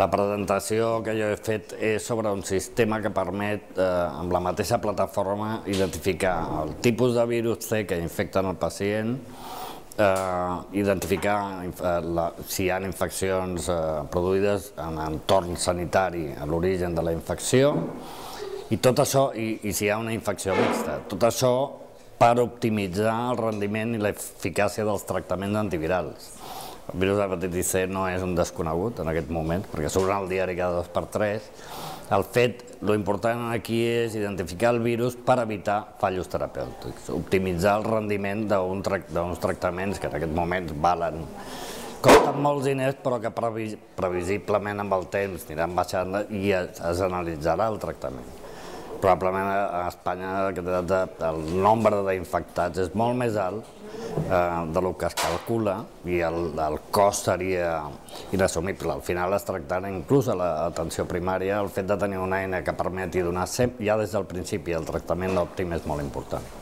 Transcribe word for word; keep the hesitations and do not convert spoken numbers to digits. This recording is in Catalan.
La presentació que jo he fet és sobre un sistema que permet, eh, amb la mateixa plataforma, identificar el tipus de virus C que infecten el pacient, eh, identificar eh, la, si hi ha infeccions eh, produïdes en entorn sanitari a l'origen de la infecció, i tot això, i, i si hi ha una infecció mixta. Tot això per optimitzar el rendiment i l'eficàcia dels tractaments antivirals. El virus d'hepatitis C no és un desconegut en aquest moment, perquè surt al diari cada dos per tres. El fet, l'important aquí és identificar el virus per evitar fallos terapèutics, optimitzar el rendiment d'uns tractaments que en aquest moment valen, costen molts diners, però que previsiblement amb el temps aniran baixant i es analitzarà el tractament. Probablement a Espanya el nombre d'infectats és molt més alt del que es calcula i el cost seria inassumible. Al final es tractarà inclús a l'atenció primària el fet de tenir una eina que permeti donar ja des del principi el tractament òptim és molt important.